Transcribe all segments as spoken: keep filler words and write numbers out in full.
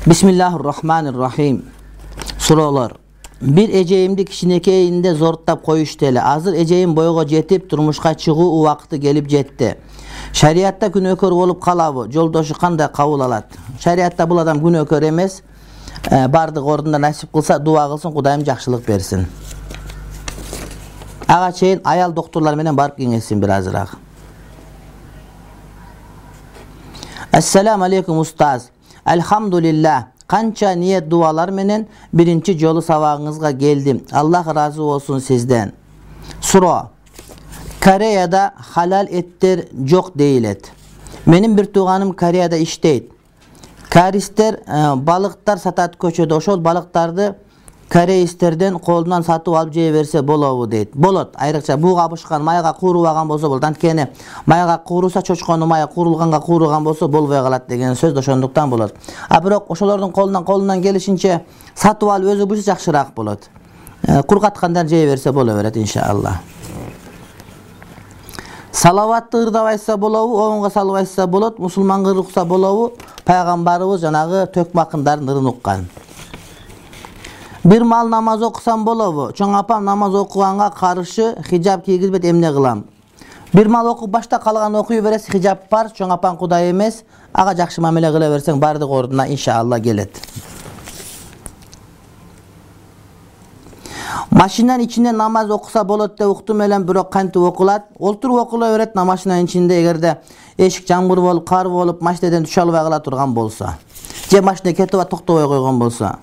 Bismillahirrahmanirrahim. Суроолор. Бир эжейимди кичинекейинде зорттап коюшту эле. Азыр эжейим бойго жетип, турмушка чыгуу убакыты келип жетти. Шариатта күнөөкөр болуп калабы? Жолдошу кандай кабыл алат? Шариатта бул адам күнөөкөр эмес. Бардык ордунда насип кылса, дуа кылсын, Кудайым жакшылык берсин. Ага чейин аял доктурлар менен барып кеңешсин бир азыраак. Ассаламу алейкум устаз. Алхамдулилlah. Канча ниет дуалар менен биринчи жолу сабагыңызга келдим. Аллах разы болсун сизден. Суроо. Кореяда халал эттер жок дейилет. Менин бир тууганым Кореяда иштейт. Каристер балыктар сатат көчөдө. Ошол балыктарды корейстерден колунан сатып алып жей берсе болобу дейт. Болот. Айрыкча буу кабышкан майга куурубаган болсо болот. Анткени майга кууруса чочконун майы куурулганга кууруган болсо болбой калат деген сөз да ошондуктан болот. А бирок ошолордун колунан колунан келишинче сатып алып өзү буйса жакшыраак болот. Кургаткандан жей берсе боло берет иншалла. Салаватты ырдап айтса болобу, оңго салып айтса болот, мусулманга ырукса болобу? Пайгамбарыбыз жанагы төкмакындарын ырын уккан. Бир маал намаз окусам болобу? Чоң апам намаз окуганга каршы хижаб кийгизбейт, эмне кылам? Бир маал окуп башта калган окуй бересиз, хижаб бар, чоң апаң Кудай эмес, ага жакшы мамиле кыла берсең бардык ордуна иншалла келет. Машинанын ичинде намаз окуса болот деп уктум элем, бирок кантип окулат? Олтуруп окула берет машинанын ичинде, эгерде эшик жамгыр болуп, кар болуп, машинеден түшө албай кала турган болсо. Же машина кетип атып токтобой койгон болсо.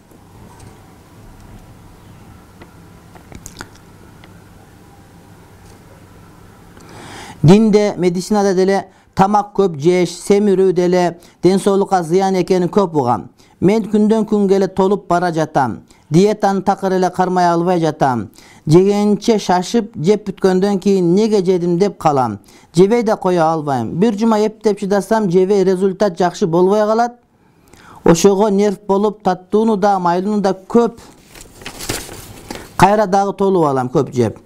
Динде, медицинада деле тамак көп жеш, семирүү деле ден соолукка зыян экенин көп угам. Мен күндөн күнгө эле толуп бара жатам. Диетаны такыр эле кармай албай жатам. Жегенче шашып, жеп бүткөндөн кийин неге жедим деп калам. Жебей да кое албайм. Бир жума эптеп чыдасам, жебей результат жакшы болбой калат. Ошого нерв болуп, таттууну да, майлууну да көп, кайра дагы толуп алам көп жеп.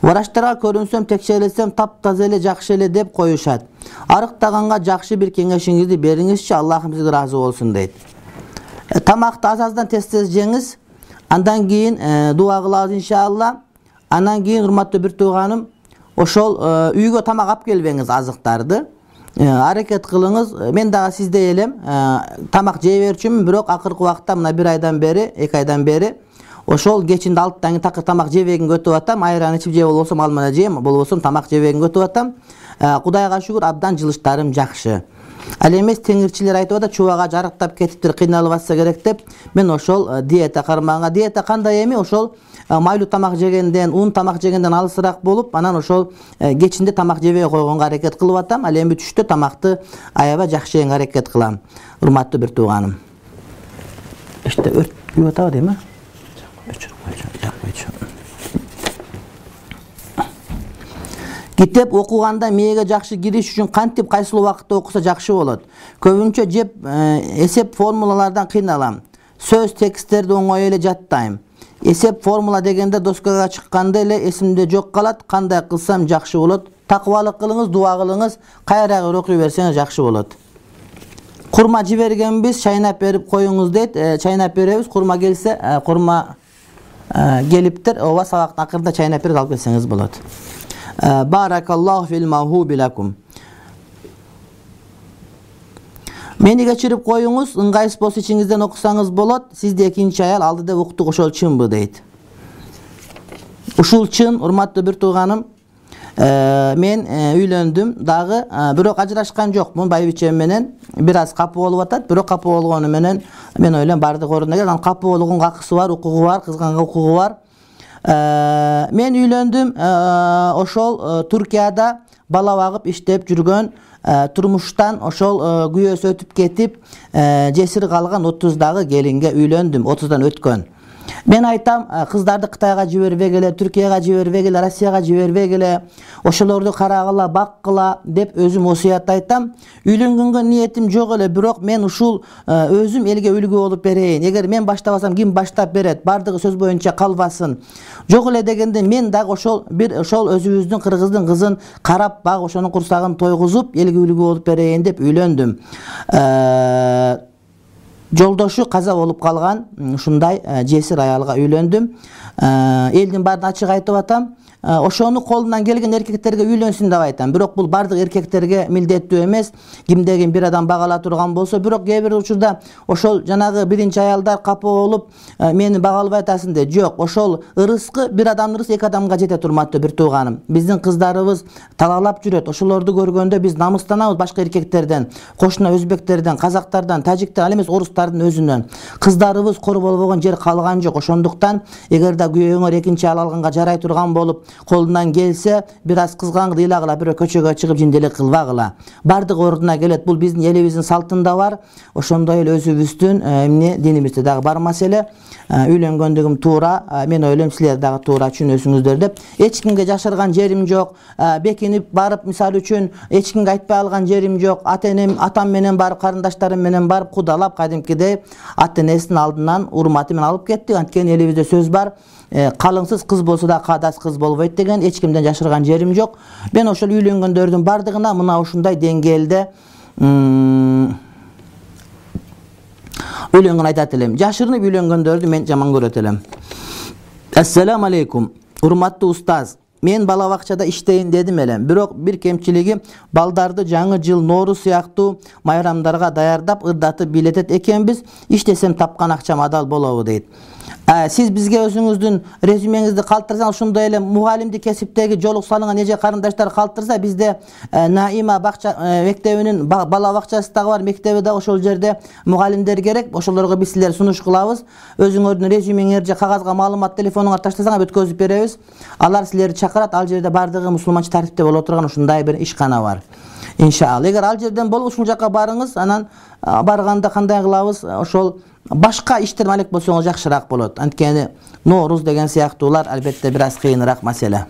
Врачтарга көрүнсөм, текшерилсем таптаза эле жакшы эле деп коюшат. Арыктаганга жакшы бир кеңешиңизди бериңизчи, Аллахым сизге разы болсун дейт. Тамакты аз-аздан тез-тез жеңиз, андан кийин дуа кылабыз иншалла. Андан кийин урматтуу бир тууганым, ошол үйгө тамак алып келбеңиз, азыктарды. Аракет кылыңыз. Мен дагы сиздей элем, тамак жей берчүмүн, бирок акыркы убакта мына бир айдан бери, эки айдан бери ошол кечинде алттан кийин такыр тамак жебегенге өтүп атам. Айран ичип же болбосом алмана жейм, болбосом тамак жебегенге өтүп атам. Кудайга шүгүр, абдан жылыштарым жакшы. Ал эмес теңирчилер айтып атат, чубага жарыктап кетиптир, кыйналып атса керек деп. Мен ошол диета кармаганга, диета кандай эми? Ошол майлуу тамак жегенден, ун тамак жегенден алысыраак болуп, анан ошол кечинде тамак жебей койгонго аракет кылып атам. Ал эми түштө тамакты аябай жакшы жегенге аракет кылам. Урматтуу бир тууганым. Эште өрт күйүп атабы дейм а? Китеп окуганда мээге жакшы кириш үчүн кантип, кайсыл убакытта окуса жакшы болот? Көбүнчө жеп эсеп формулалардан кыйналам. Сөз тексттерди оңой эле жаттайм. Эсеп формула дегенде доскага чыкканда эле эсимде жок калат. Кандай кылсам жакшы болот? Такыбалык кылыңыз, дуа кылыңыз, кайрагы окуй берсеңиз жакшы болот. Курма жибергенбиз, чайнап берип коюңуз дейт. Чайнап беребиз, курма келсе, курма келиптир, ооба сабактын акырында чайнап берип алып келсеңиз болот. Баракаллаху фил махуби лакум. Мени кечирип коюңуз, ыңгайсыз болсо ичиңизден окусаңыз болот. Сизде экинчи аял алды деп уктук, ошол чынбы дейт. Ушул чын, урматтуу бир тууганым. Мен үйлөндүм дагы, бирок ажырашкан жокмун байбичем менен. Бир аз капы болуп атат, бирок капы болгону менен мен ойлойм бардык ордуна келет. Анан капы болгонго акысы бар, укугу бар, кызганга укугу бар. Мен үйлөндүм, ошол Туркияда бала багып иштеп жүргөн, турмуштан ошол күйөөсү өтүп кетип, жесир калган отуздагы келинге үйлөндүм, отуздан өткөн. Мен айтам, кыздарды Кытайга жибербегиле, Түркияга жибербегиле, Россияга жибербегиле, ошолорду карагыла, баккыла деп өзүм осуят айтам. Үйлөнгөнгө ниетим жок эле, бирок мен ушул өзүм элге үлгү болуп берейин. Эгер мен баштабасам ким баштап берет? Бардыгы сөз боюнча калбасын. Жок эле дегенде мен дагы ошол бир ошол өзүбүздүн кыргыздын кызын карап, баг ошонун курсагын тойгузуп, элге үлгү болуп берейин деп үйлөндүм. Жолдошу каза болуп калган, ушундай жесир аялга үйлөндүм. Элдин баарын ачык айтып атам. Ошону колунан келген эркектерге үйлөнсүн деп айтам. Бирок бул бардык эркектерге милдеттүү эмес. Кимдегин бир адам багала турган болсо, бирок кээ бир учурда ошол жанагы биринчи аялдар капа болуп, мени багалбай атасың деп. Жок, ошол ырыскы бир адамдын ырыскы эки адамга жете турматтуу, бир тууганым. Биздин кыздарыбыз талаалап жүрөт. Ошолорду көргөндө биз намыстанабыз башка эркектерден, кошуна өзбектерден, казактардан, тажиктер, ал эмес орустардын өзүнөн. Кыздарыбыз кор болбогон жер калган жок. Ошондуктан эгер да күйөөңөр экинчи аял алганга жарай турган болуп, колунан келсе, бир аз кызган ыйлагыла, бирөө көчөгө чыгып жинделик кылбагыла. Бардык ордуна келет. Бул биздин элибиздин салтында бар. Ошондой эле өзүбүздүн эмне динибизде дагы бар маселе. Үйлөнгөндүгүм туура, мен ойлойм силер дагы туура түшүнөсүңүздөр деп. Эч кимге жашырган жерим жок. Бекинип барып, мисалы үчүн эч кимге айтпай алган жерим жок. Ата-энем, атам менен барып, карындаштарым менен барып кудалап, кадимкидей ата-энесинин алдынан урматы менен алып кеттик. Анткени элибизде сөз бар. Калыңсыз кыз болсо да кадас кыз болбойт деген. Эч кимден жашырган жерим жок. Мен ошол үйлөнгөндөрдүн бардыгына мына ушундай деңгээлде үйлөнгөн айтат элем. Жашырынып үйлөнгөндөрдү мен жаман көрөт элем. Ассаламу алейкум. Урматтуу устаз, мен бала бакчада иштейин дедим элем. Бирок бир кемчилиги, балдарды жаңы жыл, Нооруз сыяктуу майрамдарга даярдап, ырдатып бийлетет экенбиз. Иштесем тапкан акчам адал болобу дейт. Сиз бизге өзүңүздүн резюмеңизди калтырсаңыз, ошондой эле мугалимди кесиптеги жолук салынган эже карындаштар калтырса, бизде Наима бакча мектебинин бала бакчасы дагы бар, мектеби дагы ошол жерде мугалимдер керек. Ошолорго биз силер сунуш кылабыз. Өзүңөрдүн резюмеңерди же кагазга маалымат телефонуңа таштасаңар өткөзүп беребиз. Алар силерди чакырат. Ал жерде бардыгы мусулманча тартипте боло турган ушундай бир ишкана бар. Иншалла. Эгер ал жерден болуп ушул жака барыңыз, анан барганда кандай кылабыз? Ошол башка иштер алек болсоңуз жакшыраак болот. Анткени Нооруз деген сыяктуулар албетте бир аз кыйыныраак маселе.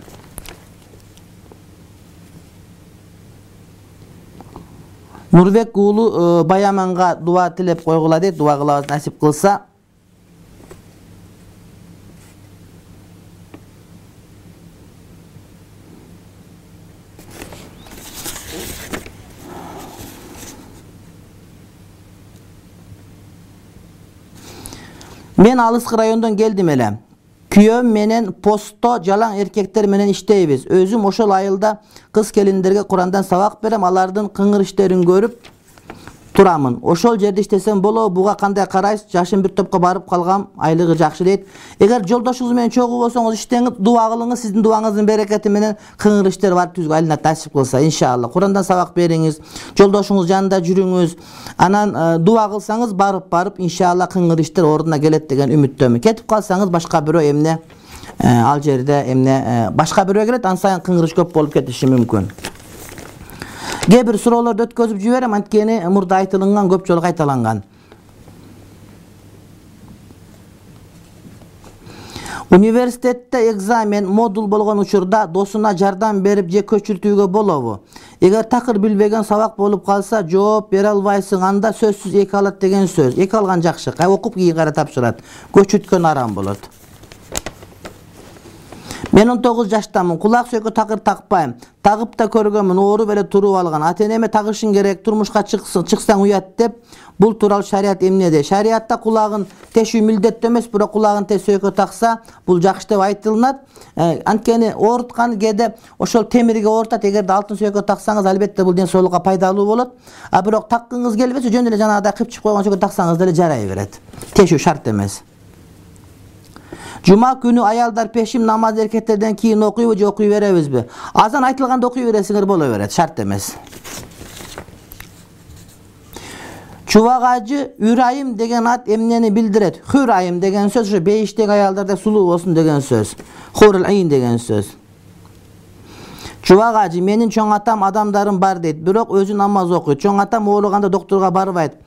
Нурбек уулу Баяманга дуа тилеп койгула дейт. Дуа кылабыз, насип кылса. Мен алыскы райондон келдим эле. Күйөөм менен постто жалаң эркектер менен иштейбиз. Өзүм ошол айылда кыз келиндерге Курандан сабак берем, алардын кыңыр иштерин көрүп турамын. Ошол жерде иштесем болобу? Буга кандай карайсыз? Жашым бир топко барып калгам, айлыгы жакшы дейт. Эгер жолдошуңуз менен чогуу болсоңуз, иштеңиз, дуа кылыңыз, сиздин дуаңыздын берекети менен кыңыр иштер бар түзгө айланат, насип кылса, иншалла. Курандан сабак бериңиз, жолдошуңуз жанында жүрүңүз. Анан дуа кылсаңыз, барып барып иншалла кыңыр иштер ордуна келет деген үмүттөмүн. Кетип калсаңыз, башка бирөө эмне ал жерде эмне башка бирөө келет, ан сайын кыңыр иш көп болуп кетиши мүмкүн. Кээ бир суроолорду өткөзүп жиберем, анткени мурда айтылган көп жолу кайталанган. Университетте экзамен, модул болгон учурда досуна жардам берип же көчүртүүгө болобу? Эгер такыр билбеген сабак болуп калса, жооп бере албайсың, анда сөзсүз эки алат деген сөз. Эки алган жакшы, кай окуп кийин кайра тапшырат. Көчүрткөн арам болот. Мен он тогуз жаштамын, кулак сөккө такыр такпайм. Тагып да көргөмүн, ооруп эле туруп алган. Ата-энеме тагышың керек, турмушка чыксаң уят деп. Бул тууралуу шарият эмне дейт? Шариатта кулагын тешүү милдеттүү эмес, бирок кулагын теш сөккө такса, бул жакшы деп айтылынат. Анткени ооруткан кээде ошол темирге оорутат. Эгерде алтын сөккө таксаңыз, албетте бул ден соолукка пайдалуу болот. А бирок таккыңыз келбесе, жөн эле жанагыдай кыпчып койгон сөккө таксаңыз деле жарай берет. Тешүү шарт эмес. Жума күнү аялдар пешим намаз эркектерден кийин окуйбу же окуй беребизби? Азан айтылганда окуй бересиңер боло берет, шарт эмес. Чубагажы Үрайым деген ат эмнени билдирет? Хүрайым деген сөз ушу бейиштеги аялдарда сулуу болсун деген сөз. Хурул айин деген сөз. Чубагажы менин чоң атам адамдарым бар дейт, бирок өзү намаз окуйт. Чоң атам ооруганда доктурга барбайт.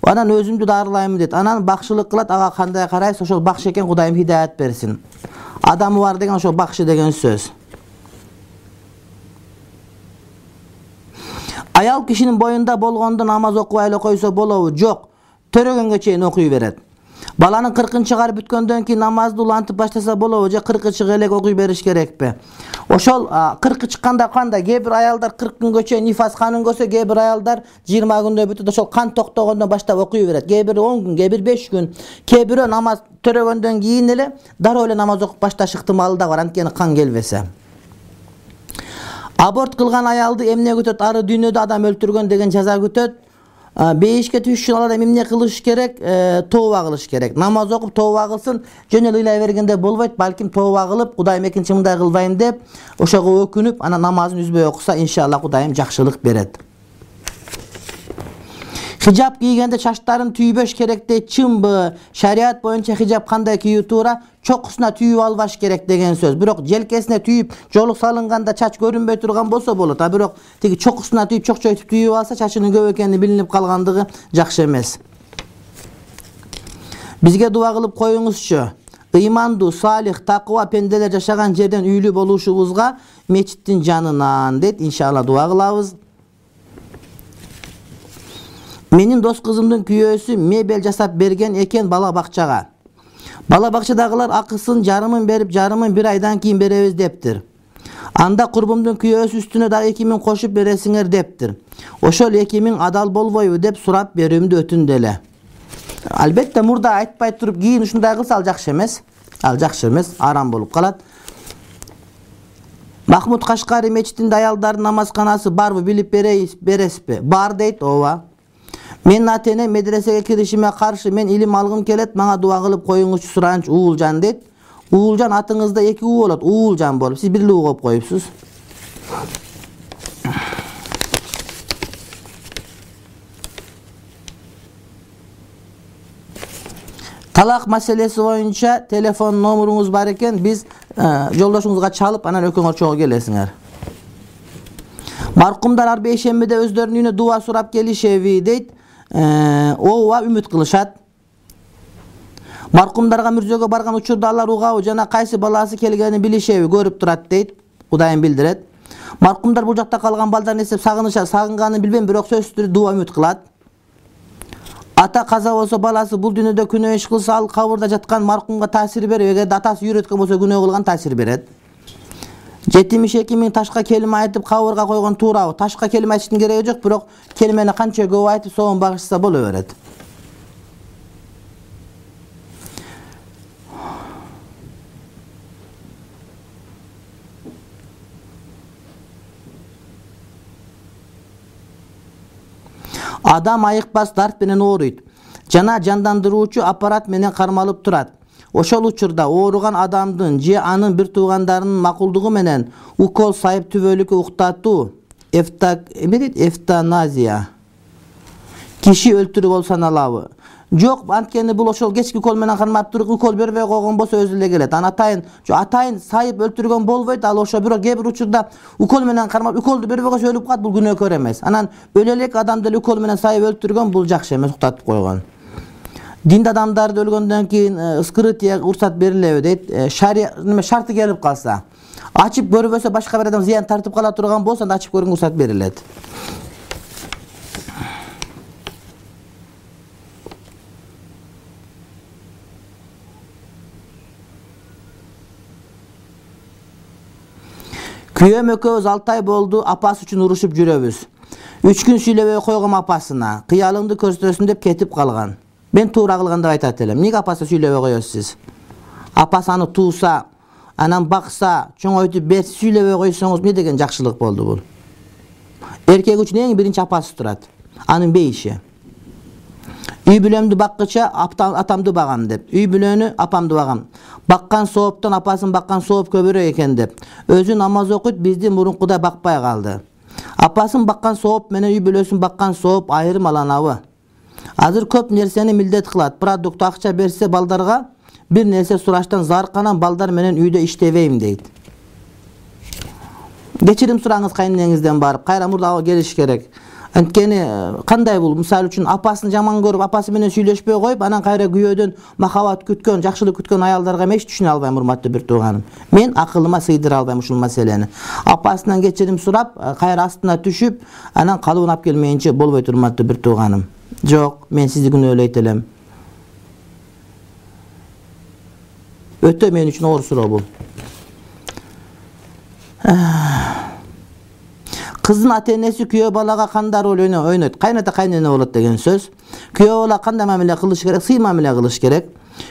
Анан өзүмдү дарылайм дейт. Анан бакшылык кылат, ага кандай карайсыз? Ошол бакшы экен, Кудайым хидаят берсин. Адамы бар деген ошол бакшы деген сөз. Аял кишинин боюнда болгондо намаз окубай эле койсо болобу? Жок. Төрөгөнгө чейин окуй берет. Баланын кыркын чыгарып бүткөндөн кийин намазды улантып баштаса болобу же кыркы чыга элек окуй бериш керекпи? Ошол кыркы чыкканда кандай? Кээ бир аялдар кырк күнгө чейин нифас канын көрсө, кээ бир аялдар жыйырма күндө бүтүп ошол кан токтогондон баштап окуй берет. Кээ бир он күн, кээ бир беш күн, кээ бирөө намаз төрөгөндөн кийин эле дароо эле намаз окуп башташ ыктымалы да бар, анткени кан келбесе. Аборт кылган аялды эмне күтөт? Ары дүйнөдө адам өлтүргөн деген жаза күтөт. Бейишке түшүш үчүн ал адам эмне кылыш керек? Тооба кылыш керек. Намаз окуп тооба кылсын, жөн эле ыйлай бергенде болбойт. Балким тооба кылып, Кудайым экинчи мындай кылбайм деп, ошого өкүнүп, анан намазын үзбөй окуса, иншалла Кудайым жакшылык берет. Хижап кийгенде чачтарын түйбөш керек дейт. Чынбы? Шариат боюнча хижап кандай кийүү туура? Чокусуна түйүп албаш керек деген сөз. Бирок желкесине түйүп, жолук салынганда чач көрүнбөй турган болсо болот. А бирок тиги чокусуна түйүп, чокчойтуп түйүп алса, чачынын көп экени билинип калгандыгы жакшы эмес. Бизге дуа кылып коюңузчу. Ыймандуу, салих, такыба пенделер жашаган жерден үйлүү болушубузга мечиттин жанынан дейт. Иншалла дуа кылабыз. Менин дос кызымдын күйөөсү мебель жасап берген экен бала бакчага. Бала бакчадагылар акысын жарымын берип, жарымын бир айдан кийин беребиз дептир. Анда курбумдун күйөөсү үстүнө дагы эки миң кошуп бересиңер дептир. Ошол эки миң адал болбойбу деп сурап берүүмдү өтүндү эле. Албетте мурда айтпай туруп кийин ушундай кылса ал жакшы эмес. Ал жакшы эмес, арам болуп калат. Махмуд Кашкари мечитинде аялдардын намазканасы барбы, билип бересизби? Бар дейт, ооба. Мен ата-эне медресеге киришиме каршы, мен илим алгым келет, мага дуа кылып коюңузчу суранч Уулжан дейт. Уулжан атыңызда эки уу болот, Уулжан болуп, сиз бир уу коюп коюпсуз. Талак маселеси боюнча телефон номеруңуз бар экен, биз жолдошуңузга чалып, анан экөөңөр чогуу келесиңер. Маркумдар ар бейшембиде өздөрүнүн үйүнө дуа сурап келишеби дейт. Ооба, үмүт кылышат. Маркумдарга мүрзөгө барган учурда алар угабы жана кайсы баласы келгенин билишеби, көрүп турат дейт. Кудайым билдирет. Маркумдар бул жакта калган балдарын эстеп сагынышат, сагынганын билбейм, бирок сөзсүз түрдө дуа үмүт кылат. Ата каза болсо баласы бул дүйнөдө күнөө иш кылса, ал кабырда жаткан маркумга таасир берет. Эгерде атасы үйрөткөн болсо күнөө кылган таасир берет. жетимиш эки миң ташка келиме айтып кабырга койгон туурабы? Ташка келиме айтыштын кереги жок, бирок келимени канча көп айтып соон багышса боло берет. Адам айыкпас дарт менен ооруйт. Жана жандандыруучу аппарат менен кармалып турат. Ошол учурда ооруган адамдын же анын бир туугандарынын макулдугу менен укол сайып түбөлүккө уктатуу, эвтаназия, киши өлтүрүү болуп саналабы? Жок, анткени бул ошол кечки укол менен кармап туруп укол бербей койгон болсо өзү эле келет. Аны атайын, атайын сайып өлтүргөн болбойт, ал ошо бирок кээ бир учурда укол менен кармап, уколду бербей койсо өлүп калат, бул күнөөкөр эмес. Анан өлө элек адамды эле укол менен сайып өлтүргөн, бул жакшы эмес, уктатып койгон. Динд адамдарды өлгөндөн кийин скрытие уруксат берилеби дейт. Шарты келип калса, ачып көрбөсө башка бир адам зыян тартып кала турган болсо, анда ачып көрүүгө уруксат берилет. Күйөөм экөөбүз алты ай болду, апасы үчүн урушуп жүрөбүз. үч күн сүйлөбөй койгом апасына, кыялыңды көрсөтөсүн деп кетип калган. Мен туура кылган деп айтат элем. Эмнеге апасы сүйлөбөй коесуз сиз? Апасы аны тууса, анан бакса, чоңойтуп берсе, сүйлөбөй койсоңуз эмне деген жакшылык болду бул? Эркек үчүн эң биринчи апасы турат. Анын бейиши. Үй бүлөмдү баккыча атамды багам деп. Үй бүлөнү апамды багам. Баккан сооптон апасын баккан сооп көбүрөөк экен деп. Өзү намаз окуйт, бизди мурункудай бакпай калды. Апасын баккан сооп менен үй бүлөсүн баккан сооп айырмаланабы? Азыр көп нерсени милдет кылат. Продукт акча берсе балдарга бир нерсе сураштан зарканан балдар менен үйдө иштебейм дейт. Кечирим сураңыз кайнеңизден барып, кайра мурда келиш керек. Анткени кандай бул? Мисалы үчүн апасын жаман көрүп, апасы менен сүйлөшпөй коюп, анан кайра күйөөдөн махабат күткөн, жакшылык күткөн аялдарга мен эч түшүнө албайм, урматтуу бир тууганым. Мен акылыма сыйдыра албайм ушул маселени. Апасынан кечирим сурап, кайра астына түшүп, анан калыбын алып келмейинче болбойт, урматтуу бир тууганым. Жок, мен сизди күнөөлөйт элем. Өтө мен үчүн оор суроо бул. Кыздын ата-энеси күйөө балага кандай роль ойнойт? Кайната кайнене болот деген сөз. Күйөө бала кандай мамиле кылыш керек? Сый мамиле кылыш керек.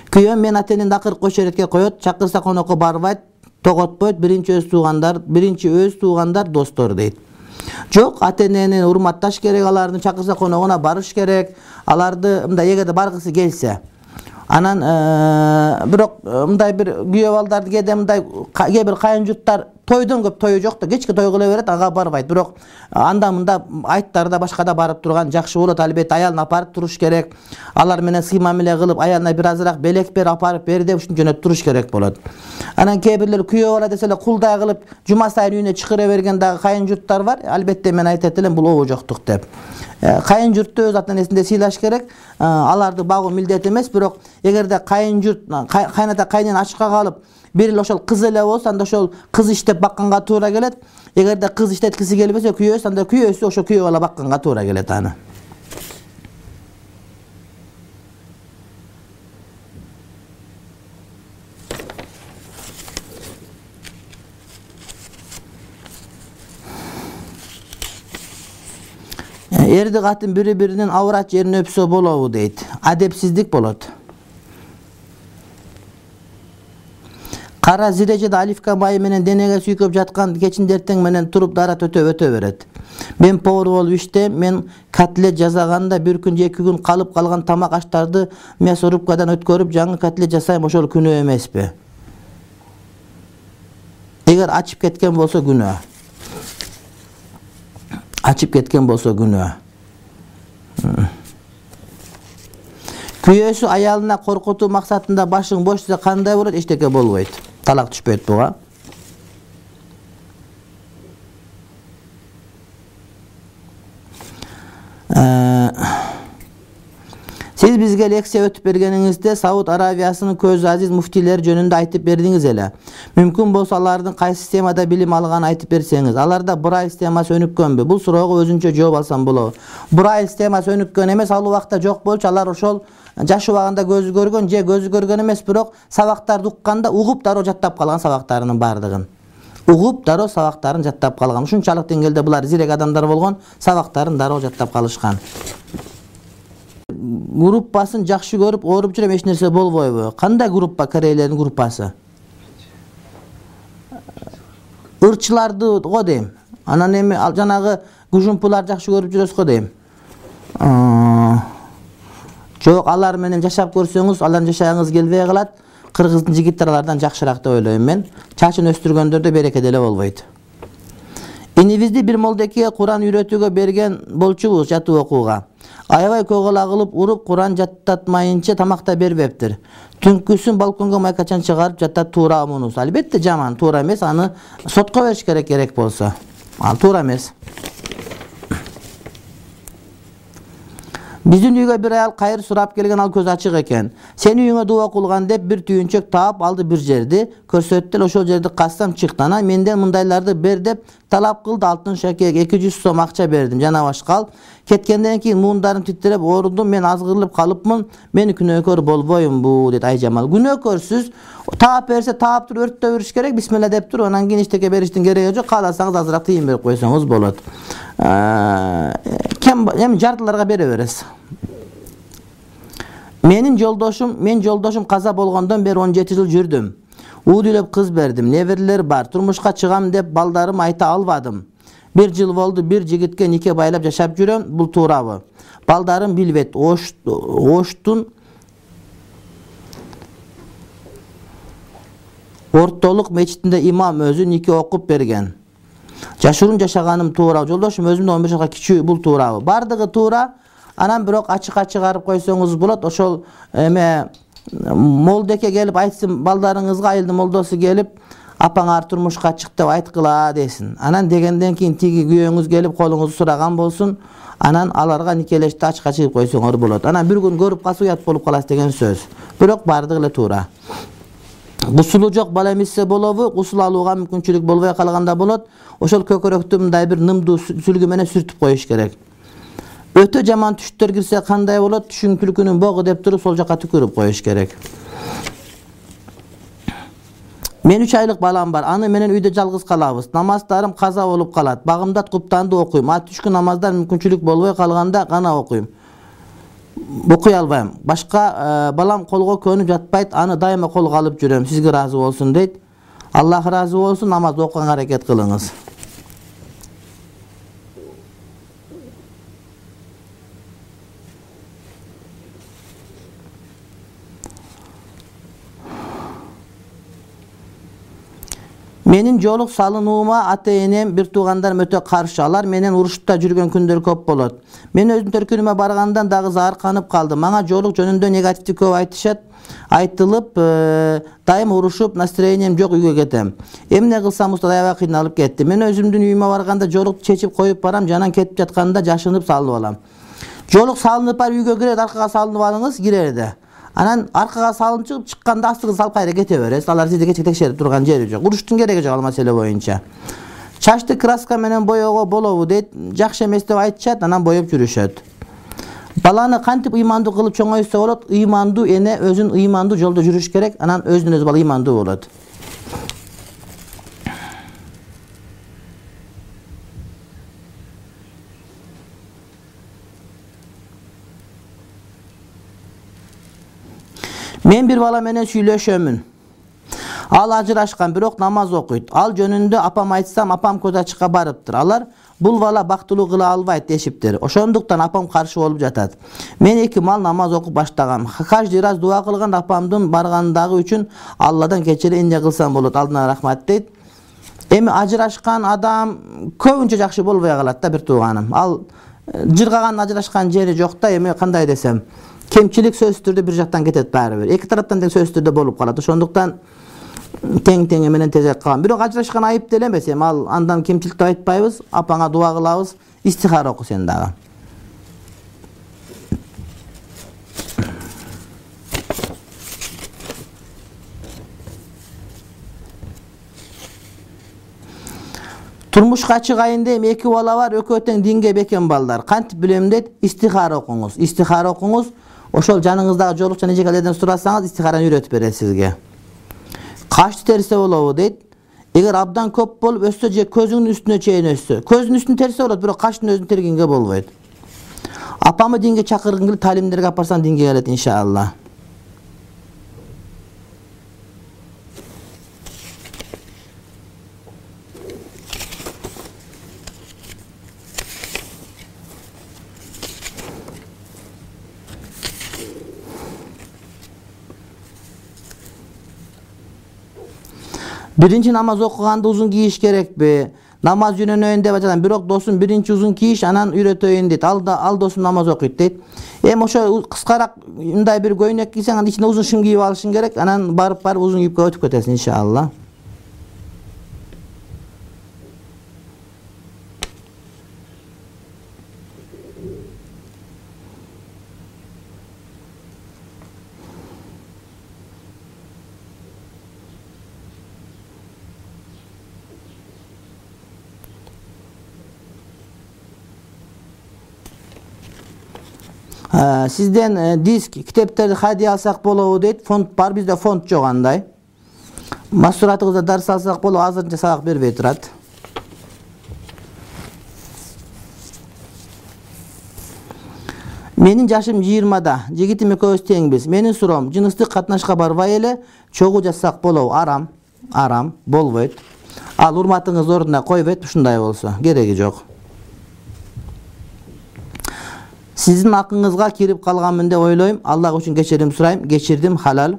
Күйөө мен ата-энемди акыркы кошеретке коет, чакырса конокко барбайт, тоготпойт, биринчи өз туугандар, биринчи өз туугандар достор дейт. Жок, ата-энени урматташ керек, алардын чакырса коногуна барыш керек, аларды мындай эгерде баргысы келсе. Анан бирок мындай бир күйөө балдарды кээде мындай кээ бир кайын журттар тойдон көп тою жок да, кечке той кыла берет, ага барбайт. Бирок анда мында айттарда башкада барып турган жакшы болот. Албетте аялын апарып туруш керек. Алар менен сый мамиле кылып, аялына бир азыраак белек бер, апарып бер деп ушинтип жөнөтүп туруш керек болот. Анан кээ бирлер күйөө бала десе эле кулдай кылып жума сайын үйүнө чакыра берген дагы кайын журттар бар. Албетте мен айтат элем, бул обо жоктук деп. Кайын журтту өз ата-энесинде сыйлаш керек. Аларды багуу милдет эмес, бирок эгерде кайын журт, кайната кайнен ачыкка калып, бир эле ошол кыз эле болсо, анда ошол кыз иштеп бакканга туура келет. Эгерде кыз иштеткиси келбесе, күйөөсү, анда күйөөсү ошо күйөө бала бакканга туура келет аны. Эрди катын бири-биринин аврат жерин өпсө болобу дейт. Адепсиздик болот. Кара зирежеде оливка майы менен денеге сүйкөп жаткан кечин эртең менен туруп дара төтө өтө берет. Мен повар болуп иштейм, мен котлет жасаганда бир күн же эки күн калып калган тамак аштарды мясорубкадан өткөрүп жаңы котлет жасайм, ошол күнөө эмеспи? Эгер ачып кеткен болсо күнөө. Ачып кеткен болсо күнөө. Күйөөсү аялына коркутуу максатында башың бош десе кандай болот? Эчтеке болбойт. Талак түшпөйт буга. Сиз бизге лекция өтүп бергениңизде Сауд Арабиясынын көз азиз муфтилери жөнүндө айтып бердиңиз эле. Мүмкүн болсо алардын кайсы системада билим алганын айтып берсеңиз. Аларда Брайль системасы өнүккөнбү? Бул суроого өзүнчө жооп алсам болобу. Брайль системасы өнүккөн эмес, ал убакта жок болчу. Алар ошол жаш убагында көзү көргөн же көзү көргөн эмес, бирок сабактарды укканда угуп дароо жаттап калган сабактарынын бардыгын. Угуп дароо сабактарын жаттап калган. Ушунчалык деңгээлде булар зирек адамдар болгон, сабактарын дароо жаттап калышкан. Группасын жакшы көрүп, ооруп жүрөм, эч нерсе болбойбу? Кандай группа корейлердин группасы? Ырчыларды го дейм. Анан эми ал жанагы гужумпулар жакшы көрүп жүрөсүз го дейм. Жок, алар менен жашап көрсөңүз, алардын жашагыңыз келбей калат. Кыргыздын жигиттери алардан жакшыраак деп ойлойм мен. Чачын өстүргөндөрдө береке деле болбойт. Инибизди бир молдекеге Куран үйрөтүүгө берген болчубуз жатуу окууга. Аябай көгола кылып уруп, Куран жаттатмайынча тамакта бербептир. Түнкүсүн балконго майкачан чыгарып жаттат, туура мунус. Албетте жаман, туура эмес, аны сотко бериш керек керек болсо. Ал туура эмес. Биздин үйгө бир аял кайыр сурап келген, ал көз ачык экен. Сени үйүңө дуба кылган деп бир түйүнчөк таап алды, бир жерди көрсөттү, ошол жерди кассам чыкты. Анан менден мындайларды бер деп талап кылды. Алтын шакек эки жүз сом акча бердим, жана башка. Кеткенден кийин муундарым титиреп оорудум, мен азгырылып калыпмын. Мени күнөөкөр болбоймбу дейт Айжамал. Күнөөкөрсүз, таап берсе таап туруп өрттөп бериш керек, бисмилла деп туруп, анан кийин эчтеке бериштин кереги жок. Кааласаңыз азыраак тыйын берип койсоңуз болот. Кем эми жартыларга бере бересиз. Менин жолдошум, мен жолдошум каза болгондон бери он жети жыл жүрдүм. Уу үйлөп кыз бердим, неберелер бар. Турмушка чыгам деп балдарым айта албадым. Бир жыл болду, бир жигитке нике байлап жашап жүрөм. Бул туурабы? Балдарым билбейт. Оштун ортолук мечитинде имам өзү нике окуп берген. Жашыруун жашаганым туура. Жолдошум өзүмдөн он беш жашка кичүү, бул туурабы? Бардыгы туура. Анан бирок ачыкка чыгарып койсоңуз болот. Ошол эме молдеке келип айтсын, балдарыңызга айылдын молдосу келип, апаңар турмушка чык деп айткыла десин. Анан дегенден кийин тиги күйөөңүз келип колуңузду сураган болсун. анан аларга никелешти ачка чыгып койсоңор болот. Анан бир күн көрүп калса уят болуп каласыз деген сөз. Бирок бардыгы эле туура. Гусулу жок бала эмитсе болобу, гусул алууга мүмкүнчүлүк болбой калганда болот. Ошол көкөрөктү мындай бир нымдуу сүлгү менен сүртүп коюш керек. Өтө жаман түштөр кирсе кандай болот? Түшүн түлкүнүн богу деп туруп сол жака түкүрүп коюш керек. Мен үч айлык балам бар. Аны менен үйдө жалгыз калабыз. Намаздарым каза болуп калат. Багымдат куптанды окуйм. А түшкү намаздар мүмкүнчүлүк болбой калганда гана окуйм. Окуй албайм. Башка балам колго көнүп жатпайт. Аны дайыма колго алып жүрөм. Сизге ыраазы болсун дейт. Аллах ыраазы болсун. Намаз окуганга аракет кылыңыз. Менин жолук салынуума ата-энем, бир туугандарым өтө каршы. Алар менен урушта жүргөн күндөр көп болот. Мен өзүм төркүнүмө баргандан дагы заарканып калдым. Мага жолук жөнүндө негативди көп айтышат. Айтылып, дайым урушуп, настроением жок үйгө кетем. Эмне кылсам уста аябай кыйналып кетти. Мен өзүмдүн үйүмө барганда жолук чечип коюп барам, жанан кетип жатканда жашынып салып алам. Жолук салынып бар үйгө кирет, аркага салынып алыңыз, кирерде. Анан аркага салынып чыгып чыкканда астыгы салып кайра кете бересиз. Алар сизди кече текшерип турган жери жок. Уруштун кереги жок ал маселе боюнча. Чачты краска менен боёго болобу дейт. Жакшы эмес деп айтышат, анан боёп жүрүшөт. Баланы кантип ыймандуу кылып чоңойтса болот? Ыймандуу эне өзүн ыймандуу жолдо жүрүш керек, анан өзүнөн өзү бала ыймандуу болот. Мен бир бала менен сүйлөшөмүн. Ал ажырашкан, бирок намаз окуйт. Ал жөнүндө апам айтсам, апам көз ачыкка барыптыр. Алар бул бала бактылуу кыла албайт дешиптир. Ошондуктан апам каршы болуп жатат. Мен эки мал намаз окуп баштагам. Каждый раз дуа кылган апамдын баргандагы үчүн Алладан кечири эмне кылсам болот? Алдынан рахмат дейт. Эми ажырашкан адам көбүнчө жакшы болбой калат да, бир тууганым. Ал жыргаган ажырашкан жери жок да, эми кандай десем, кемчилик сөзсүз түрдө бир жактан кетет баары бир. Эки тараптан тең сөзсүз түрдө болуп калат. Ошондуктан тең-тең менен тезек калган. Бирок ажырашкан айып деле эмес. Эми ал андан кемчилик деп айтпайбыз. Апаңа дуа кылабыз. Истихара оку сен дагы. Турмушка чыгайын дейм, эки бала бар, экөө тең динге бекем балдар. Кантип билем дейт? Истихара окуңуз. Истихара окуңуз. Ошол жаныңыздагы жолукчан эжекелерден сурасаңыз, истихараны үйрөтүп берет сизге. Кашты терсе болобу дейт. Эгер абдан көп болуп өссө же көзүңдүн үстүнө чейин өссө. Көздүн үстүн терсе болот, бирок каштын өзүн тергенге болбойт. Апамы динге чакыргым келип, талимдерге апарсам динге келет иншалла. Биринчи намаз окуганда узун кийиш керекпи? Намаз үйрөнөйүн деп атам, бирок досум биринчи узун кийиш, анан үйрөтөйүн дейт. Ал да ал досум намаз окуйт дейт. Эми ошо кыскараак мындай бир көйнөк кийсең, анын ичине узун шым кийип алышың керек. Анан барып барып узун кийипке өтүп кетесиң иншалла. Сизден диск, китептерди хадия алсак болобу дейт. Фонд бар, бизде фонд жок андай. Масуратыңызда дарс алсак болобу, азырынча сабак бербей турат. Менин жашым жыйырмада, жигитим экөөбүз теңбиз. Менин суроом, жыныстык катнашка барбай эле чогуу жасак болобу? Арам, арам, болбойт. Ал урматыңыз ордуна койбойт, ушундай болсо, кереги жок. Сиздин акыңызга кирип калганмын деп ойлойм. Аллах үчүн кечирим сурайм. Кечирдим, халал.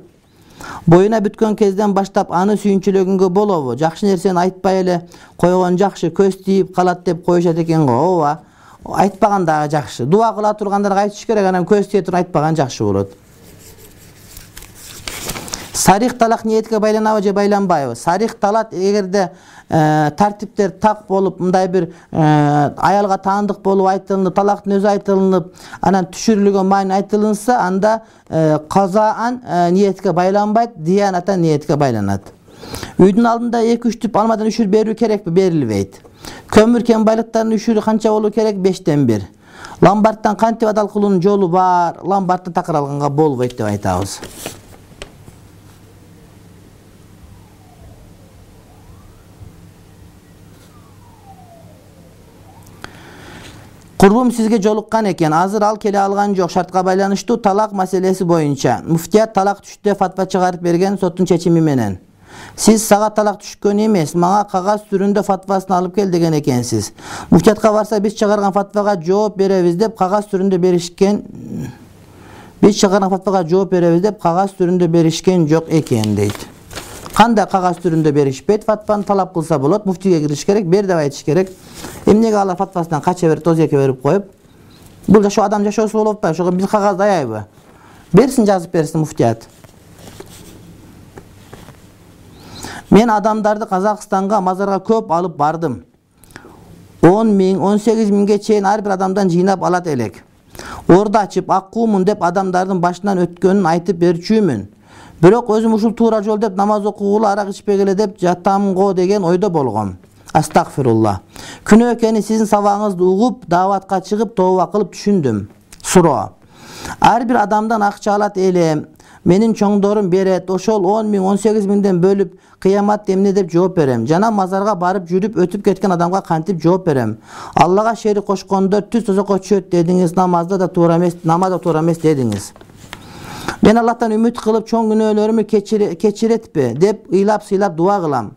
Боюна бүткөн кезден баштап аны сүйүнчүлөгөнгө болобу? Жакшы нерсени айтпай эле койгон жакшы, көз тийип калат деп коюшат экен го. Ооба. Айтпаган дагы жакшы. Дуа кыла тургандарга айтыш керек, анан көз тие туруп айтпаган жакшы болот. Сарих талак ниетке байланабы же байланбайбы? Сарих талак эгерде тартиптер так болуп, мындай бир аялга таандык болуп айтылынып, талактын өзү айтылынып, анан түшүрүлгөн маани айтылынса, анда казаан ниетке байланбайт, диянатан ниетке байланат. Үйдүн алдында эки үч түп алмадан үшүр берүү керекпи? Берилбейт. Көмүр кен байлыктарынын үшүрү канча болуу керек? бештен бир. Ломбардтан кантип адал кылуунун жолу бар, ломбардтан такыр алганга болбойт деп айтабыз. Курбум сизге жолуккан экен. Азыр ал келе алган жок. Шартка байланыштуу талак маселеси боюнча. Муфтият талак түштү фатва чыгарып берген соттун чечими менен. Сиз сага талак түшкөн эмес, мага кагаз түрүндө фатвасын алып кел деген экенсиз. Муфтиятка барса биз чыгарган фатвага жооп беребиз деп кагаз түрүндө беришкен. Биз чыгарган фатвага жооп беребиз деп кагаз түрүндө беришкен жок экен дейт. Кандай кагаз түрүндө беришпейт? Фатваны талап кылса болот, муфтийге кириш керек, бер деп айтыш керек. Эмнеге алар фатвасынан кача берип, тозекке берип коюп? Бул жашоо адам жашоосу болуп атпайбы? Ошого биз кагаз даябы? Берсин, жазып берсин муфтият. Мен адамдарды Казакстанга, мазарга көп алып бардым. он миң, он сегиз миңге чейин ар бир адамдан жыйнап алат элек. Орду ачып, аккуумун деп адамдардын башынан өткөнүн айтып берчүмүн. Бирок өзүм ушул туура жол деп намаз окугулу, арак ичпегиле деп жатам го деген ойдо болгом. Астагфирулла. Күнөө экени сиздин сабагыңызды угуп, дааватка чыгып, тооба кылып түшүндүм. Суроо. Ар бир адамдан акча алат элем. Менин чоңдорум берет. Ошол он миң, он сегиз миңден бөлүп, кыямат эмне деп жооп берем? Жана мазарга барып жүрүп өтүп кеткен адамга кантип жооп берем? Аллага шерик кошкондор түз тозокко түшөт дедиңиз, намазда да туура эмес, намазда туура эмес дедиңиз. Мен Аллахтан үмүт кылып, чоң күнөөлөрүмү кечиретпи деп ыйлап-сыйлап дуа кылам.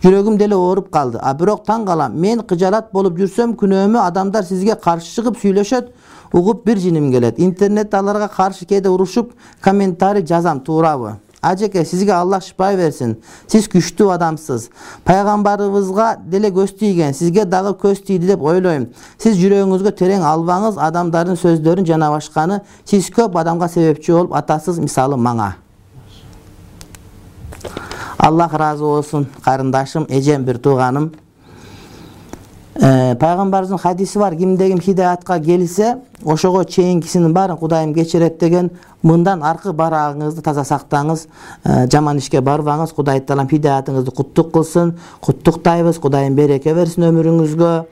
Жүрөгүм деле ооруп калды. А бирок таң калам. Мен кыжалат болуп жүрсөм, күнөөмү адамдар сизге каршы чыгып сүйлөшөт, угуп бир жиним келет. Интернетте аларга каршы кээде урушуп, комментарий жазам, туурабы? Ажеке, сизге Аллах шипа берсин. Сиз күчтүү адамсыз. Пайгамбарыбызга деле көз тийген, сизге дагы көз тийди деп ойлойм. Сиз жүрөгүңүзгө терең албаңыз, адамдардын сөздөрүн жана башканы. Сиз көп адамга себепчи болуп атасыз, мисалы мага. Аллах разы болсун, карындашым, эжем, бир тууганым. Пайгамбарыбыздын хадиси бар, кимде ким хидаятка келсе, ошого чейинкисинин баарын Кудайым кечирет деген. Мындан аркы барагыңызды таза сактаңыз, жаман ишке барбаңыз. Кудай Таалам хидаятыңызды куттук кылсын. Куттуктайбыз. Кудайым береке берсин өмүрүңүзгө,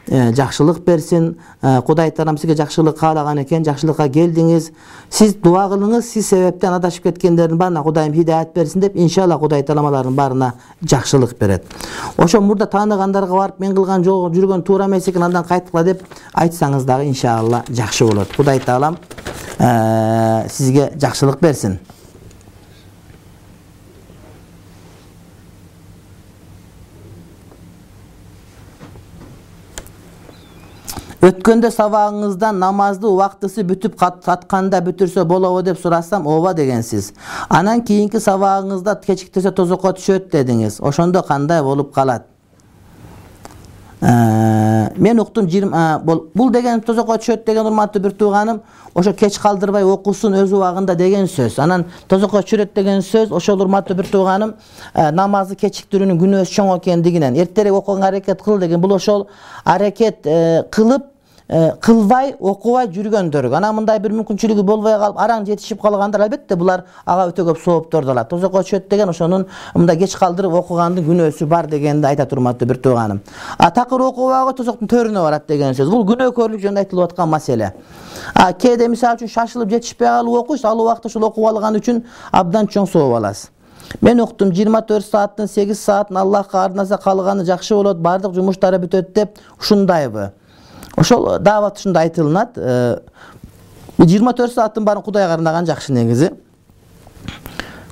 жакшылык берсин. Кудай Таалам сизге жакшылык каалаган экен, жакшылыкка келдиңиз. Сиз дуа кылыңыз, сиз себептен адашып кеткендердин баарына Кудайым хидаят берсин деп, иншалла Кудай Таалам алардын баарына жакшылык берет. Ошо мурда тааныгандарга барып, мен кылган жол жүргөн туура эмес экен, андан кайткыла деп айтсаңыз дагы иншалла жакшы болот. Кудай Таалам сизге жакшылык берсин. Өткөндө сабагыңыздан намазды убактысы бүтүп катканда бүтүрсө болобу деп сурасам, ооба дегенсиз. Анан кийинки сабагыңызда кечиктесе тозокко түшөт дедиңиз. Ошондо кандай болуп калат? Мен уктум жыйырма бул деген тозокко түшөт деген урматтуу бир тууганым, ошо кеч калдырбай окусун өз убагында деген сөз. Анан тозокко түшөрөт деген сөз, ошол урматтуу бир тууганым, намазды кечиктирүүнүн күнөөсү чоң экендигинен, эртерээк окуганга аракет кыл деген. Бул ошол аракет кылып кылбай, окубай жүргөндөр. Анан мындай бир мүмкүнчүлүгү болбой калып, араң жетишип калгандар, албетте булар ага өтө көп соопторду алат. Тозокко түшөт деген ошонун мындай кеч калдырып окугандын күнөөсү бар дегенди айтат урматтуу бир тууганым. А такыр окубагы тозоктун төрүнө барат деген сөз. Бул күнөөкөрлүк жөнүндө айтылып аткан маселе. А кээде мисалы үчүн шашылып жетишпей калып окуйсуз, ал убакытта ушул окуп алган үчүн абдан чоң сооп аласыз. Мен уктум жыйырма төрт сааттын сегиз саатын Аллахка арнаса калганы жакшы болот, бардык жумуштары бүтөт деп ушундайбы? Ошол даават ушунда айтылынат. жыйырма төрт сааттын баарын Кудайга арнаган жакшы негизи.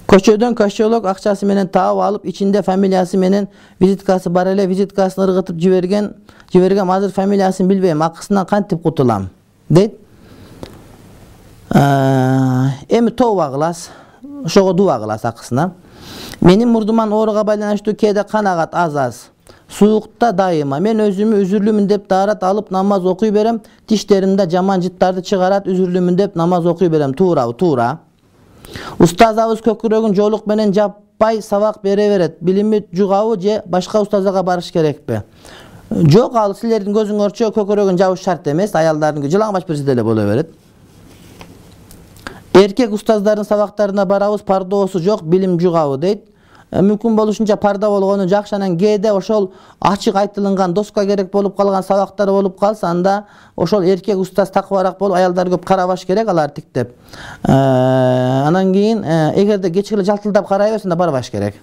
Көчөдөн кошелок акчасы менен таап алып, ичинде фамилиясы менен визиткасы бар эле, визиткасын ыргытып жиберген, жибергем, азыр фамилиясын билбейм, акысынан кантип кутулам, дейт. Эми тооба кыласыз, ошого дуа кыласыз акысына. Менин мурдуман ооруга байланыштуу кээде кан агат аз-аз. Суукта дайыма. Мен өзүмү үзүрлүмүн деп даарат алып намаз окуй берем. Тиштеримде жаман жыттарды чыгарат, үзүрлүмүн деп намаз окуй берем. Туурабы? Туура. Устазабыз көкүрөгүн жоолук менен жап унутпай сабак бере берет. Билими жугабы же башка устазга барыш керекпи? Жок, ал силердин көзүңөрчө көкөрөгүн жабыш шарт эмес, аялдардын жылаңбаш берсе деле боло берет. Эркек устаздардын сабактарына барабыз, пардоосу жок, билим жугабы дейт. Мүмкүн болушунча парда болгону жакшы, анан кээде ошол ачык айтылган доска керек болуп калган сабактар болуп калса, анда ошол эркек устаз такыбараак болуп, аялдар көп карабаш керек, алар тиктеп. Анан кийин эгерде кечке эле жалтылдап карай берсе, анда барбаш керек.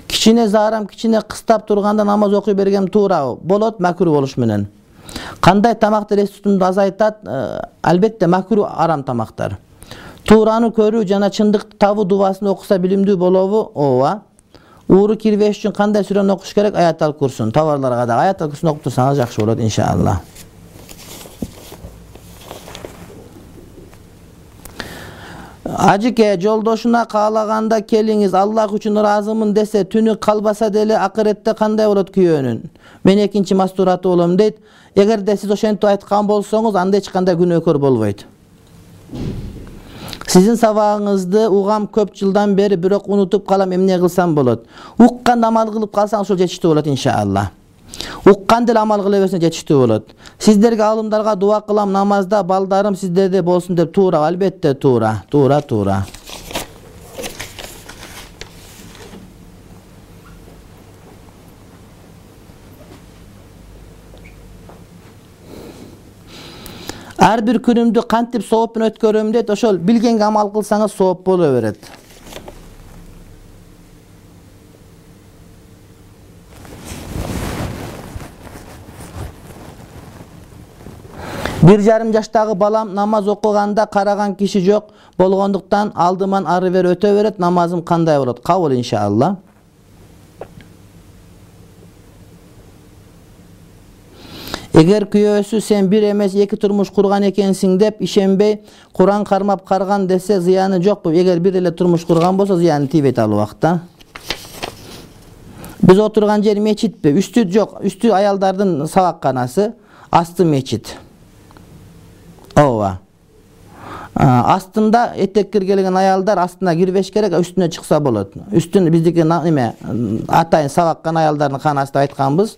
Кичине заарам, кичине кыстап турганда намаз окуй бергем туурабы? Болот, макруh болуш менен. Кандай тамакты эс тутумду азайтат? Албетте макруh арам тамактар. Туураны көрүү жана чындыкты табуу дубасын окуса билимдүү болобу? Ооба. Ууру кирбеш үчүн кандай сүрөнү окуш керек? Аят-ал Курсун. Товарларга да Аят-ал Курсун окуп турсаңыз жакшы болот, иншалла. Ажыке, жолдошуна каалаганда келиңиз, Аллах үчүн ыраазымын десе, түнү калбаса деле акыретте кандай болот күйөөнүн? Мен экинчи мастураты болом дейт. Эгерде сиз ошентип айткан болсоңуз, анда эч кандай күнөөкөр болбойт. Сизин сабагыңызды угам көп жылдан бери, бирок унутуп калам, эмне кылсам болот? Уккан амал кылып калсаң ошол жетиштүү болот, иншалла. Уккан деле амал кыла берсең жетиштүү болот. Сиздерге, алымдарга дуа кылам, намазда балдарым сиздерде болсун деп. Туура, албетте туура, туура, туура. Ар бир күнүмдү кантип сооп менен өткөрөм дейт. Ошол билгенге амал кылсаңыз сооп боло берет. Бир жарым жаштагы балам намаз окуганда караган киши жок болгондуктан алдыман ары бери өтө берет. Намазым кандай болот? Кабыл, иншалла. Эгер күйөөсү сен бир эмес эки турмуш курган экенсиң деп ишенбей, Куран кармап карган десе зыяны жокпу? Эгер бир эле турмуш курган болсо зыяны тийбейт ал убакта. Биз отурган жер мечитпи? Үстү жок, үстү аялдардын сабакканасы, асты мечит. Ооба. Астында этек киргелген аялдар астына кирбеш керек, үстүнө чыкса болот. Үстүн биздики неме атайын сабаккан аялдардын канасы деп айтканбыз.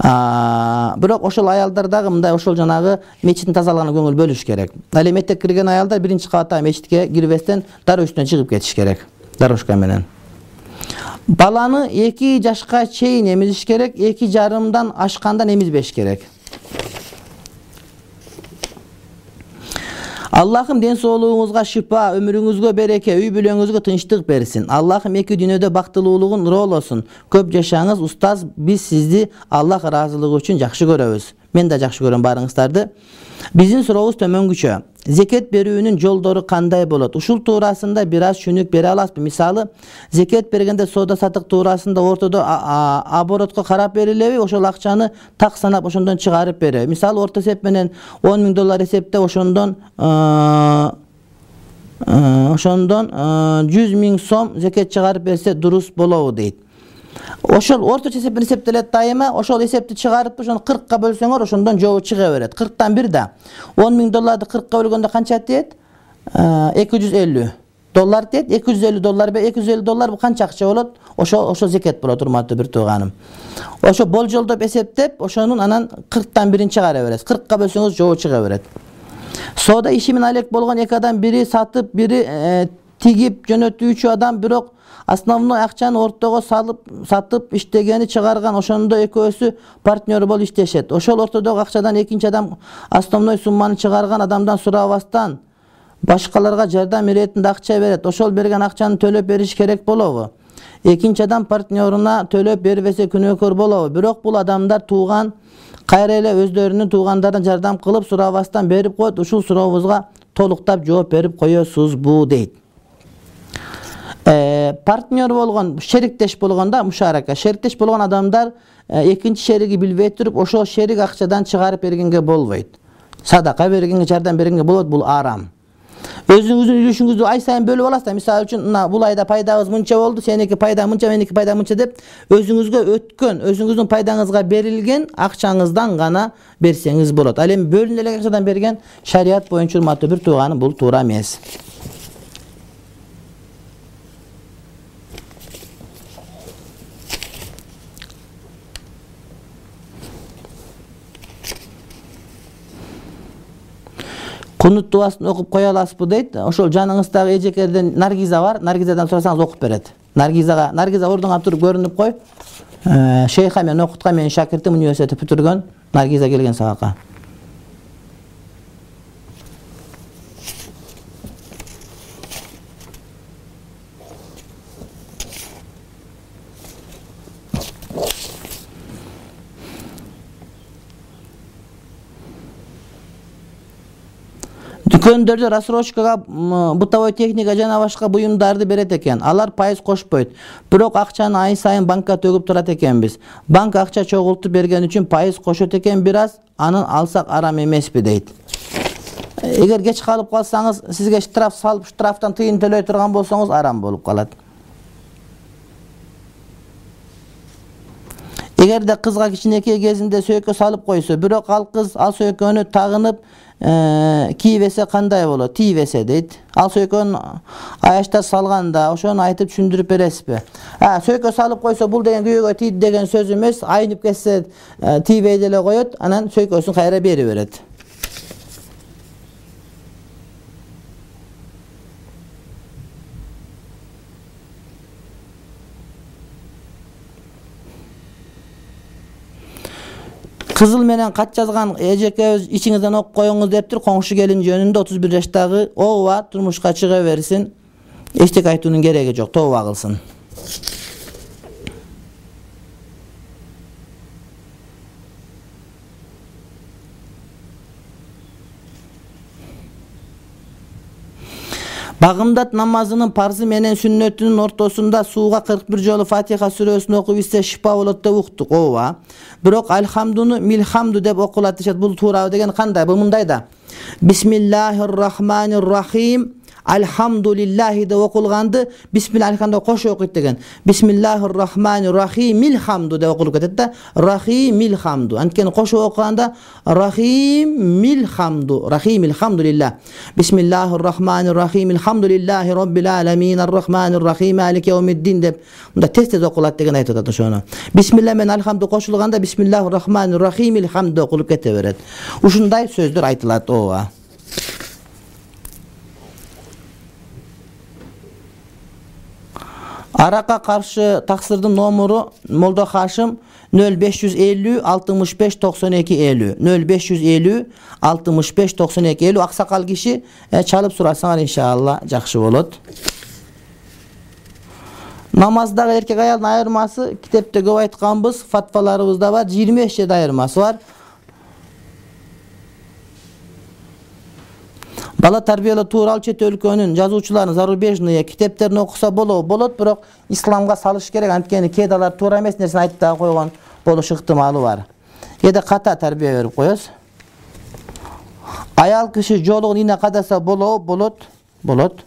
Бирок ошол аялдар дагы мындай ошол жанагы мечиттин тазалыгына көңүл бөлүш керек. Ал эми этек кирген аялдар биринчи кабатта мечитке кирбестен дароо үстүнө чыгып кетиш керек. Дорожка менен. Баланы эки жашка чейин эмизиш керек, эки жарымдан ашкандан эмизбеш керек. Аллахым ден соолугуңузга шифа, өмүрүңүзгө береке, үй бүлөңүзгө тынчтык берсин. Аллахым эки дүйнөдө бактылуулугун роолосун. Көп жашаңыз, устаз. Биз сизди Аллах ыраазылыгы үчүн жакшы көрөбүз. Мен да жакшы көрөм барыңыздарды. Биздин сурообуз төмөнгүчө. Зекет берүүнүн жолдору кандай болот? Ушул туурасында бир аз түшүнүк бере аласызбы? Мисалы, зекет бергенде соода сатык туурасында ортодо оборотко карап берилеби? Ошол акчаны так санап ошондон чыгарып береби? Мисалы, орто эсеп менен он миң доллар эсептеп ошондон ошондон жүз миң сом зекет чыгарып берсе дурус болобу дейт. Ошол орточо эсеп менен эсептелет дайыма, ошол эсепти чыгарып ошону кыркка бөлсөңөр, ошондон жобу чыга берет. кырктан бир да. он миң долларды кыркка бөлгөндө канча тиет? эки жүз элүү доллар тиет. эки жүз элүү доллар, эки жүз элүү доллар бул канча акча болот? Ошо ошо зекет болот, урматтуу бир тууганым. Ошо болжолдоп эсептеп, ошонун анан кырктан бирин чыгара бересиз. кыркка бөлсөңүз жобу чыга берет. Соода иши менен алек болгон эки адам, бири сатып, бири тигип жөнөтүүчү адам, бирок основной акчаны ортого салып, сатып, иштегени чыгарган, ошондо экөөсү партнер болуп иштешет. Ошол ортодогу акчадан экинчи адам основной сумманы чыгарган адамдан сурабастан башкаларга жардам иретинде акча берет. Ошол берген акчаны төлөп бериш керек болобу? Экинчи адам партнеруна төлөп бербесе күнөөкөр болобу? Бирок бул адамдар тууган, кайра эле өздөрүнүн туугандарына жардам кылып, сурабастан берип коет. Ушул сурообузга толуктап жооп берип коесузбу дейт. Партнер болгон, шериктеш болгондо, мушарака, шериктеш болгон адамдар экинчи шериги билбей туруп, ошол шерик акчадан чыгарып бергенге болбойт. Садака бергенге, жардам бергенге болот, бул арам. Өзүңүздүн үлүшүңүздү ай сайын бөлүп аласыздар. Мисалы үчүн, мына бул айда пайдабыз мынча болду, сеники пайда мынча, меники пайда мынча деп, өзүңүзгө өткөн, өзүңүздүн пайдаңызга берилген акчаңыздан гана берсеңиз болот. Ал эми бөлүнүп эле акчадан берген шарият боюнча, урматтуу бир тууганым, бул туура эмес. Кунут дуасын окуп кое аласызбы дейт. Ошол жаныңыздагы эжекерден Наргиза бар. Наргизадан сурасаңыз окуп берет. Наргизага, Наргиза ордуңа туруп көрүнүп кой. Шейха мен окуткан, менин шакиртим, университетти бүтүргөн. Наргиза келген сабакка. Дүкөндөрдө рассрочкага бытовой техника жана башка буюмдарды берет экен. Алар пайыз кошпойт. Бирок акчаны ай сайын банкка төгүп турат экенбиз. Банк акча чогултуп берген үчүн пайыз кошот экен бир аз. Анын алсак арам эмеспи дейт. Эгер кеч калып калсаңыз, сизге штраф салып, штрафтан тыйын төлөй турган болсоңуз арам болуп калат. Эгерде кызга кичинекей кезинде сөйкө салып койсо, бирок ал кыз ал сөйкөнү тагынып кийбесе кандай болот? Тийбесе дейт. Ал сөйкөнү аячта салганда ошону айтып түшүндүрүп бересизби? А, сөйкө салып койсо бул деген күйөөгө тийди деген сөз эмес. Айнып кетсе тийбей деле коет, анан сөйкөсүн кайра берип берет. Кызыл менен кат жазган эжекебиз ичиңизден окуп коюңуз дептир. Коңшу келин жөнүндө отуз бир жаштагы ооба турмушка чыга берсин. Эчтеке айтуунун кереги жок, тооба кылсын. Багымдат намазынын парзы менен сүннөтүнүн ортосунда сууга кырк бир жолу Фатиха сүрөсүн окуп ичсе шифа болот деп уктук. Ооба. Бирок альхамдуну милхамду деп окулат дешет. Бул туурабы деген кандай? Бул мындай да. Бисмиллахир-рахманир-рахим. Альхамдулиллахи деп окулганды бисмиллахи кошо окуйт деген. Бисмиллахир-рахманир-рахим милхамду деп окулуп кетет да. Рахим милхамду. Анткени кошо окуганда рахим милхамду. Рахим илхамдулиллах. Бисмиллахир-рахманир-рахим илхамдулиллахи роббил аламин ар-рахманир-рахим малики яумиддин деп мында тез-тез окулат деген айтып атат ошону. Бисмилла менен альхамду кошулганда бисмиллахир-рахманир-рахим илхамду деп окулуп кете берет. Ушундай сөздөр айтылат. Ооба. Аракка каршы таксырдын номуру Молдо Хашим нөл беш жүз элүү алтымыш беш токсон эки элүү нөл беш жүз элүү алтымыш беш токсон эки элүү. Аксакал киши чалып сурасаңар иншалла жакшы болот. Намаздагы эркек аялдын айырмасы китепте көп айтканбыз, фатваларыбызда бар, жыйырма беш жерде айырмасы бар. Бала тарбиялоо тууралуу чет өлкөнүн жазуучуларынын зарубежный китептерин окуса болобу? Болот, бирок исламга салыш керек. Анткени кээде алар туура эмес нерсени айтып да койгон болуш ыктымалы бар. Кээде ката тарбия берип коебуз. Аял киши жолугун ийне кадаса болобу? Болот. Болот.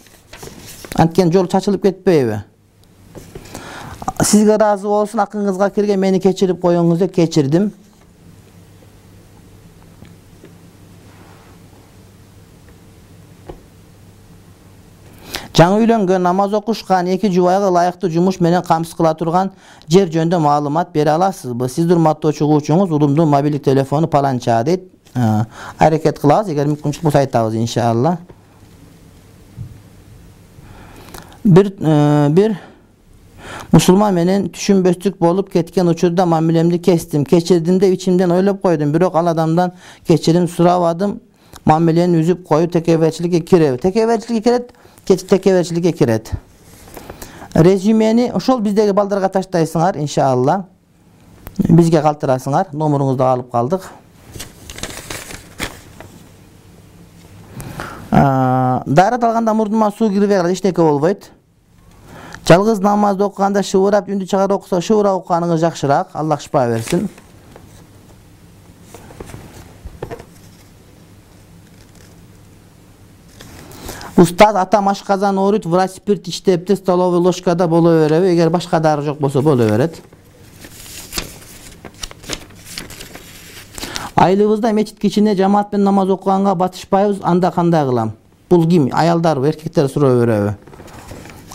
Анткени жол чачылып кетпейби? Сизге ыраазы болсун, акыңызга кирген мени кечирип коюңуз деп кечирдим. Жаңы үйлөнгөн, намаз окушкан эки жубайга ылайыктуу жумуш менен камсыз кыла турган жер жөнүндө маалымат бере аласызбы? Сиз урматтуу чыгуучуңуз улумдун мобилдик телефону паланча дейт. Аракет кылабыз, эгер мүмкүнчүлүк болсо айтабыз иншалла. Бир бир мусулман менен түшүнбөстүк болуп кеткен учурда мамилемди кестим. Кечирдим деп ичимден ойлоп койдум, бирок ал адамдан кечирим сурабадым. Мамилени үзүп коюп текеберчиликке киреби? Текеберчиликке кирет. Текеберчиликке кирет. Резюмени ошол биздеги балдарга таштайсыңар иншалла. Бизге калтырасыңар. Номуруңузду алып калдык. Даарат алганда мурдума суу кирбей калат, эчтеке болбойт. Жалгыз намазды окуганда шыбырап, үндү чыгарып окуса, шыбырап окуганыңыз жакшыраак. Аллах шифа берсин. Устаз атам ашказан ооруйт, врач спирт иштепти, столовый ложкада боло береби? Эгер башка дары жок болсо боло берет. Айлыбызда мечитке ичине жамаат менен намаз окуганга батышпайбыз, анда кандай кылам? Бул ким? Аялдарбы, эркектер суроо береби?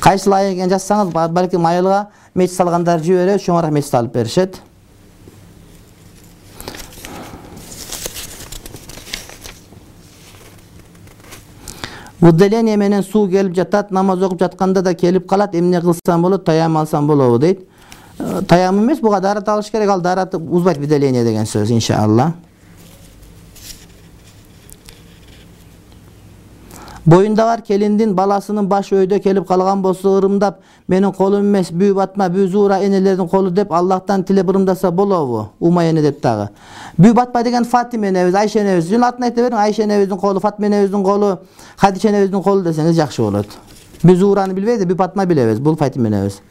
Кайсыл ай экен жазсаңыз, балким айылга мечит салгандар жиберет, чоңураак мечит салып беришет. Выделение менен суу келип жатат, намаз окуп жатканда да келип калат, эмне кылсам болот, таям алсам болобу дейт. Таям эмес, буга дарат алыш керек, ал дарат узбайт выделение деген сөз, иншалла. Боюнда бар келиндин баласынын башы өйдө келип калган болсо ырымдап, менин колум эмес, бүү батма, бүү зуура энелердин колу деп Аллахтан тилеп ырымдаса болобу? Умай эне деп дагы. Бүү батпа деген Фатима энебиз, Айша энебиз. Жөн атын айта бериң, Айша энебиздин колу, Фатима энебиздин колу, Хадича энебиздин колу десеңиз жакшы болот. Бүү зуураны билбейбиз, бүү батма билебиз, бул Фатима энебиз.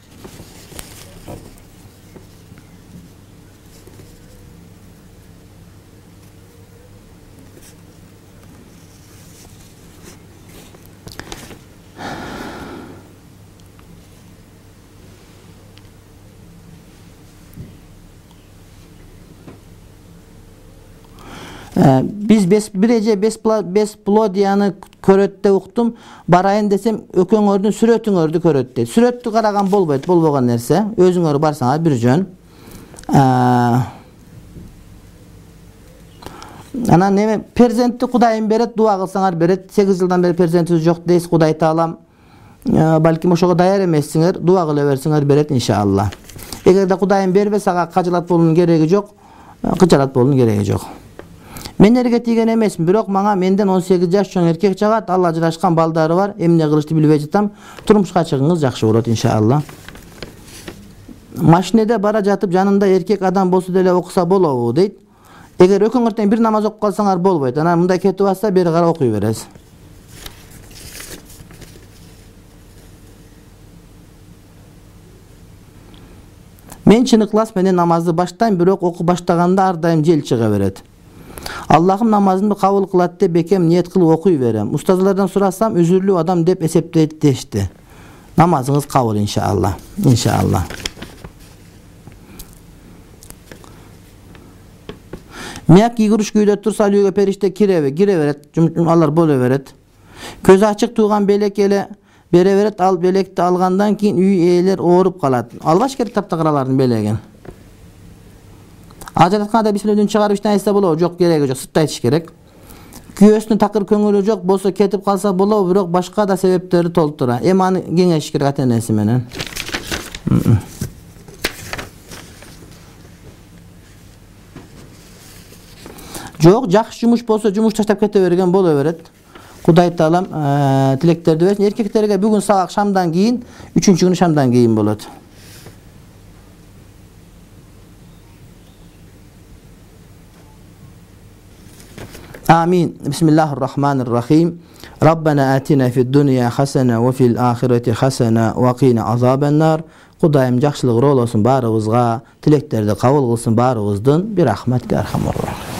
Биз бир эже бесплодияны көрөт деп уктум, барайын десем өкөңөрдүн сүрөтүңөрдү көрөт дейт. Сүрөттү караган болбойт, болбогон нерсе. Өзүңөр барсаңар бир жөн. Анан неме перзентти Кудайым берет, дуа кылсаңар берет. сегиз жылдан бери перзентибиз жок дейсиз, Кудай таалам балким ошого даяр эмессиңер, дуа кыла берсиңер берет иншалла. Эгерде Кудайым бербесе, ага кажалат болуунун кереги жок, кычалат болуунун кереги жок. Мен эрге тийген эмесмин, бирок мага менден он сегиз жаш чоң эркек чыгат, ал ажырашкан балдары бар, эмне кылышты билбей жатам. Турмушка чыгыңыз жакшы болот иншалла. Машинеде бара жатып жанында эркек адам болсо деле окуса болобу дейт. Эгер өкөңөртөн бир намаз окуп калсаңар болбойт. Анан мындай кетип атса бери кара окуй бересиз. Мен чын ыклас менен намазды баштайм, бирок окуп баштаганда ар дайым жел чыга берет. Аллахым намазымды кабыл кылат деп бекем ниет кылып окуй берем. Устазлардан сурасам, үзүрлүү адам деп эсептейт дешти. Намазыңыз кабыл иншалла. Иншалла. Мияк кийгүрүш күйдө турса үйгө периште киреби, кире берет, алар боло берет. Көзү ачык турган белек эле бере берет, ал белекти алгандан кийин үй ээлер ооруп калат. Албаш керек таптакыралардын белегин. Ажыратканда бисмиллахтан чыгарып иштен айтса болобу? Жок, кереги жок, сыртта айтыш керек. Күйөөсүнүн такыр көңүлү жок болсо кетип калса болобу, бирок башка да себептери толтура. Эми аны кеңешиш керек ата-энеси менен. Жок, жакшы жумуш болсо жумуш таштап кете берген боло берет. Кудай таалам тилектерди берсин. Эркектерге бүгүн сабак шамдан кийин, үчүнчү күнү шамдан кийин болот. آمين. بسم الله الرحمن الرحيم. ربنا آتنا في الدنيا حسنة وفي الآخرة حسنة وقنا عذاب النار. Кудайым жакшылык ролосун баарыбызга, тилектерди кабыл кылсын баарыбыздын. Bir rahmet, bir rahmet.